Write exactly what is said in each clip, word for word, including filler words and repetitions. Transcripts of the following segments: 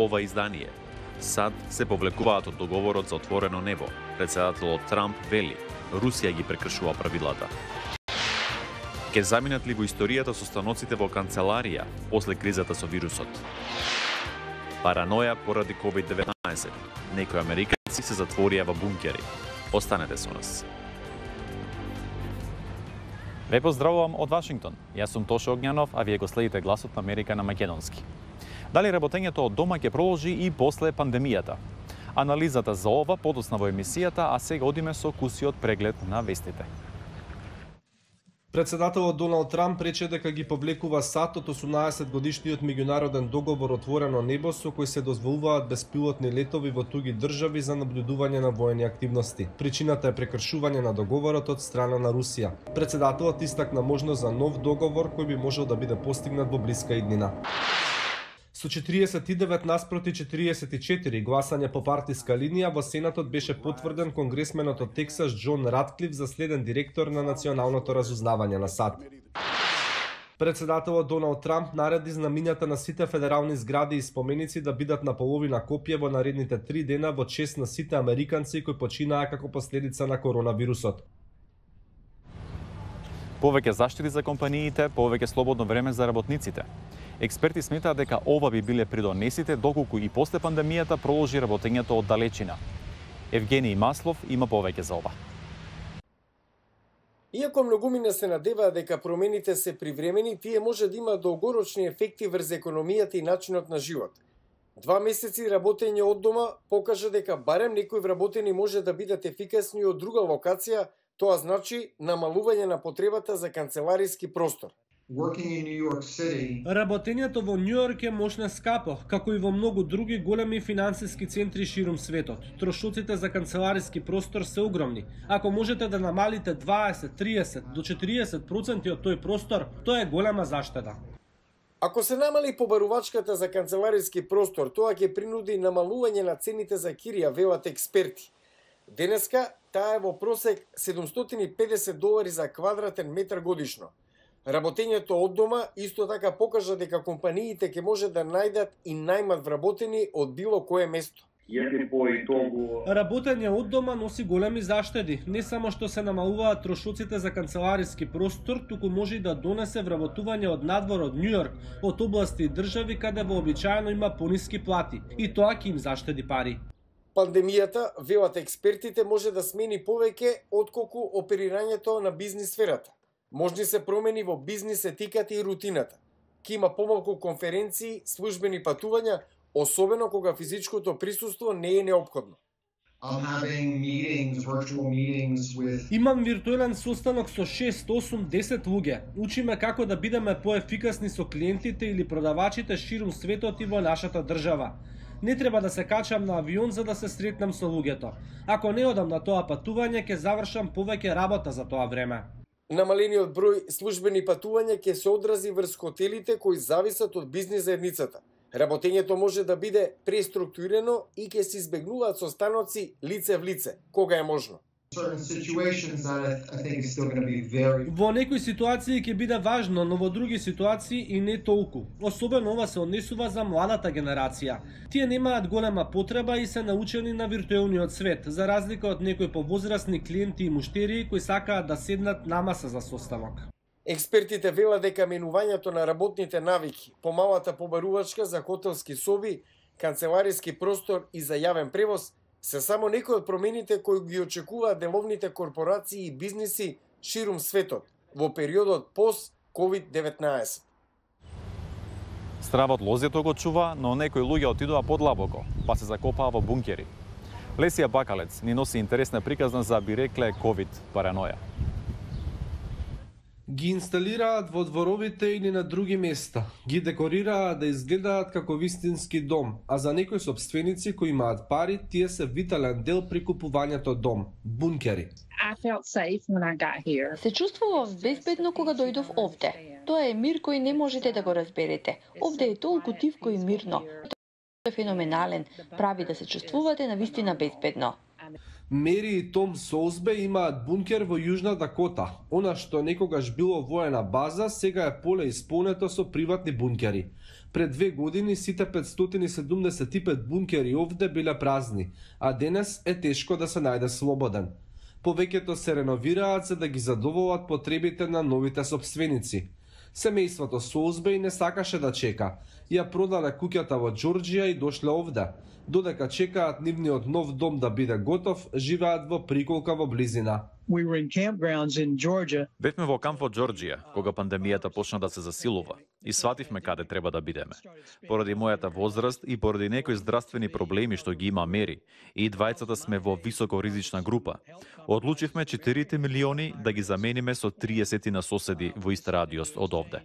ова издание. САД се повлекуваат од договорот за отворено небо. Председателот Трамп вели, Русија ги прекршува правилата. Ке заминат ли во историјата состаноците во канцеларија после кризата со вирусот? Параноја поради ковид деветнаесет. Некои американци се затворија во бункери. Останете со нас. Ве поздравувам од Вашингтон. Јас сум Тошо Огњанов, а вие го следите Гласот на Америка на македонски. Дали работењето од дома ќе продолжи и после пандемијата? Анализата за ова подоцна во емисијата, а сега одиме со кусиот преглед на вестите. Председателот Доналд Трамп рече дека ги повлекува САД од осумнаесет годишниот меѓународен договор Отворено небо со кој се дозволуваат беспилотни летови во туги држави за наблюдување на воени активности. Причината е прекршување на договорот од страна на Русија. Председателот истакна можност за нов договор кој би можел да биде постигнат во блиска иднина. Со четириесет и девет наспроти четириесет и четири гласање по партиска линија во Сенатот беше потврден конгресменот од Тексас Џон Ратклиф за следен директор на Националното разузнавање на САД. Председателот Доналд Трамп нареди знамињата на сите федерални згради и споменици да бидат на половина копија во наредните три дена во чест на сите американци кои починаа како последица на коронавирусот. Повеќе заштити за компаниите, повеќе слободно време за работниците. Експерти сметаат дека ова би биле придонесите доколку и после пандемијата продолжи работењето од далечина. Евгений Маслов има повеќе за ова. Иако многумина се надеваат дека промените се привремени, тие може да имаат долгорочни ефекти врз економијата и начинот на живот. Два месеци работење од дома покажа дека барем некои вработени може да бидат ефикасни од друга локација, тоа значи намалување на потребата за канцелариски простор. Работењето во Њујорк е мошне скапо, како и во многу други големи финансиски центри ширум светот. Трошоците за канцелариски простор се огромни. Ако можете да намалите дваесет, триесет до четириесет проценти од тој простор, тоа е голема заштеда. Ако се намали побарувачката за канцелариски простор, тоа ќе принуди намалување на цените за кирија, велат експерти. Денеска таа е во просек седумстотини и педесет долари за квадратен метар годишно. Работењето од дома исто така покажа дека компаниите ќе може да најдат и најмат вработени од било кое место. Работење од дома носи големи заштеди. Не само што се намалуваат трошоците за канцелариски простор, туку може и да донесе вработување од надвор од Њујорк, од области и држави каде вообичаено има пониски плати. И тоа ќе им заштеди пари. Пандемијата, велат експертите, може да смени повеќе отколку оперирањето на бизнис сферата. Можни се промени во бизнис етиката и рутината. Ке има помалку конференции, службени патувања, особено кога физичкото присуство не е неопходно. Имам виртуелен состанок со шест, осум, десет луѓе. Учиме како да бидеме поефикасни со клиентите или продавачите ширум светот и во нашата држава. Не треба да се качам на авион за да се сретнам со луѓето. Ако не одам на тоа патување, ќе завршам повеќе работа за тоа време. Намалениот број службени патувања ќе се одрази врз хотелите кои зависат од бизнис заедницата. Работењето може да биде преструктурирано и ќе се избегнуваат состаноци лице в лице, кога е можно. Во некои ситуации ќе биде важно, но во други ситуации и не толку. Особено ова се однесува за младата генерација. Тие немаат голема потреба и се научени на виртуелниот свет, за разлика од некои повозрасни клиенти и муштерии кои сакаат да седнат на маса за состанок. Експертите велат дека менувањето на работните навики, помалата побарувачка за хотелски соби, канцелариски простор и за јавен превоз се само некои од промените кои ги очекуваат деловните корпорации и бизниси ширум светот во периодот пост ковид деветнаесет. Стравот лозето го чува, но некои луѓе отидоа подлабоко, па се закопаа во бункери. Лесија Бакалец ни носи интересна приказна за, би рекле, ковид параноја. Ги инсталираат во дворовите или на други места. Ги декорираат да изгледаат како вистински дом, а за некои собственици кои имаат пари, тие се витален дел при купувањето дом – бункери. Се чувствував безбедно кога дојдов овде. Тоа е мир кој не можете да го разберете. Овде е толку тивко и мирно. Тоа е феноменален, прави да се чувствувате навистина безбедно. Мери и Том Соузбе имаат бункер во Јужна Дакота. Она што некогаш било воена база, сега е поле исполнето со приватни бункери. Пред две години сите петстотини седумдесет и пет бункери овде биле празни, а денес е тешко да се најде слободен. Повеќето се реновираат за да ги задоволат потребите на новите сопственици. Семејството Соузбеј не сакаше да чека. Ја продале куќата во Џорџија и дошле овде. Додека чекаат нивниот нов дом да биде готов, живеат во приколка во близина. We were in campgrounds in Georgia. Бевме во камп во Џорџија, кога пандемијата почна да се засилува, и свативме каде треба да бидеме. Поради мојата возраст и поради некои здравствени проблеми што ги има Мери, и двајцата сме во високоризична група. Одлучивме четири милиони да ги замениме со триесет на соседи во ист радиус од овде.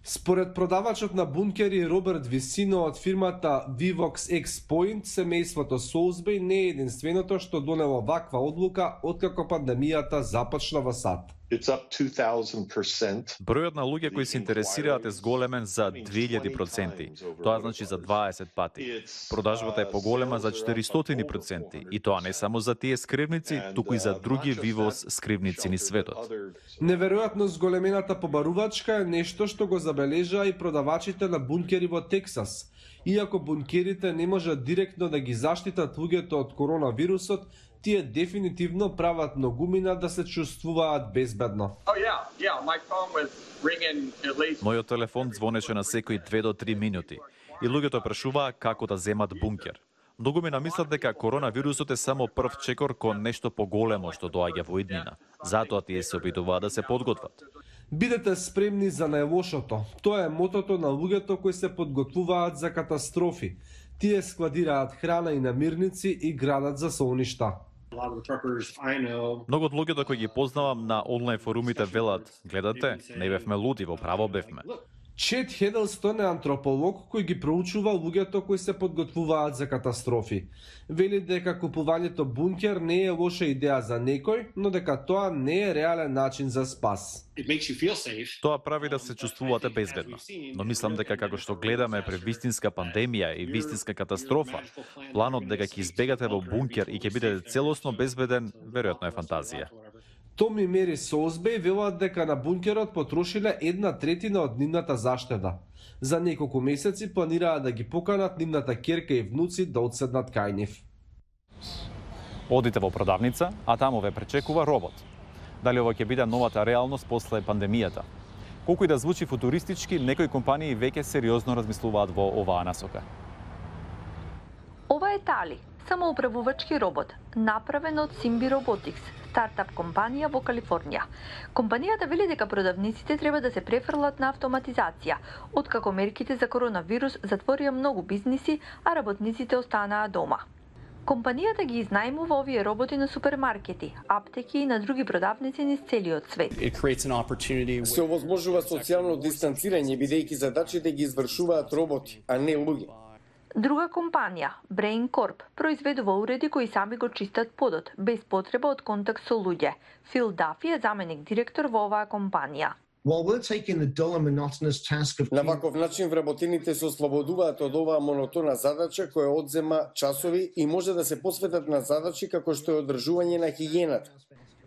Според продавачот на бункери Роберт Висино од фирмата Vivox X-Point, семејството Соузбеј не е единственото што донело ваква одлука откако пандемијата започна во САД. Бројот на луѓе кои се интересираат е зголемен за две илјади проценти, тоа значи за дваесет пати. Продажбата е поголема за четиристотини проценти, и тоа не само за тие скривници, туку и за други Vivos скривници низ светот. Неверојатно зголемената побарувачка е нешто што го забележаа и продавачите на бункери во Тексас. Иако бункерите не можат директно да ги заштитат луѓето од коронавирусот, тие дефинитивно прават многумина да се чувствуваат безбедно. Мојот телефон звонеше на секои две до три минути и луѓето прашуваа како да земат бункер. Многумина мислат дека коронавирусот е само прв чекор кон нешто поголемо што доаѓа во иднина. Затоа тие се обидуваат да се подготват. Бидете спремни за најлошото. Тоа е мотото на луѓето кои се подготвуваат за катастрофи. Тие складираат храна и намирници и градат за солништа. Многу од луѓето кои ги познавам на онлайн форумите велат: гледате, не бевме луди, во право бевме. Чет Хедлстон е антрополог кој ги проучува луѓето кои се подготвуваат за катастрофи. Вели дека купувањето бункер не е лоша идеја за некој, но дека тоа не е реален начин за спас. Тоа прави да се чувствувате безбедно, но мислам дека како што гледаме при вистинска пандемија и вистинска катастрофа, планот дека ќе избегате во бункер и ќе бидете целосно безбеден, веројатно е фантазија. Том и Мери Соузбеј велат дека на бункерот потрошиле една третина од нивната заштеда. За неколку месеци планираат да ги поканат нивната ќерка и внуци да одседнат кај нив. Одите во продавница, а таму ве пречекува робот. Дали ова ќе биде новата реалност после пандемијата? Колку и да звучи футуристички, некои компании веќе сериозно размислуваат во оваа насока. Ова е Тали, самоуправувачки робот, направен од Simbi Robotics, стартап компанија во Калифорнија. Компанијата вели дека продавниците треба да се префрлат на автоматизација, откако мерките за коронавирус затворија многу бизниси, а работниците останаа дома. Компанијата ги изнајмува овие роботи на супермаркети, аптеки и на други продавници низ целиот свет. Се овозможува социјално дистанцирање бидејќи задачите ги извршуваат роботи, а не луѓе. Друга компанија, Brain Corp, произведува уреди кои сами го чистат подот, без потреба од контакт со луѓе. Фил Дафи е заменик директор во оваа компанија. На ваков начин вработените се ослободуваат од оваа монотона задача која одзема часови и може да се посветат на задачи како што е одржување на хигиената.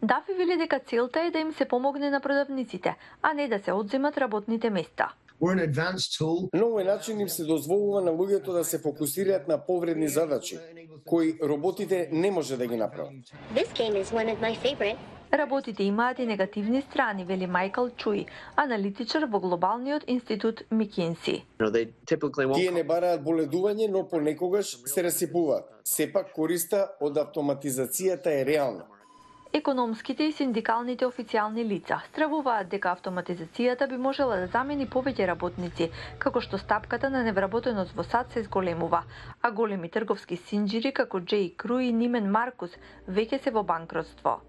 Дафи вели дека целта е да им се помогне на продавниците, а не да се одземат работните места. На овој начин им се дозволува на луѓето да се фокусираат на повредни задачи, кои роботите не може да ги направат. Работите имаат и негативни страни, вели Майкл Чуи, аналитичар во глобалниот институт Микинси. Тие не бараат боледување, но понекогаш се расипуваат. Сепак користа од автоматизацијата е реална. Економските и синдикалните официјални лица стравуваат дека автоматизацијата би можела да замени повеќе работници, како што стапката на невработеност во САД се зголемува, а големи трговски синџири како Джей Кру и Нимен Маркус веќе се во банкротство.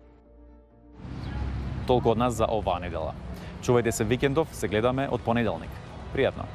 Толку од нас за оваа недела. Чувајте се викендов, се гледаме од понеделник. Пријатно!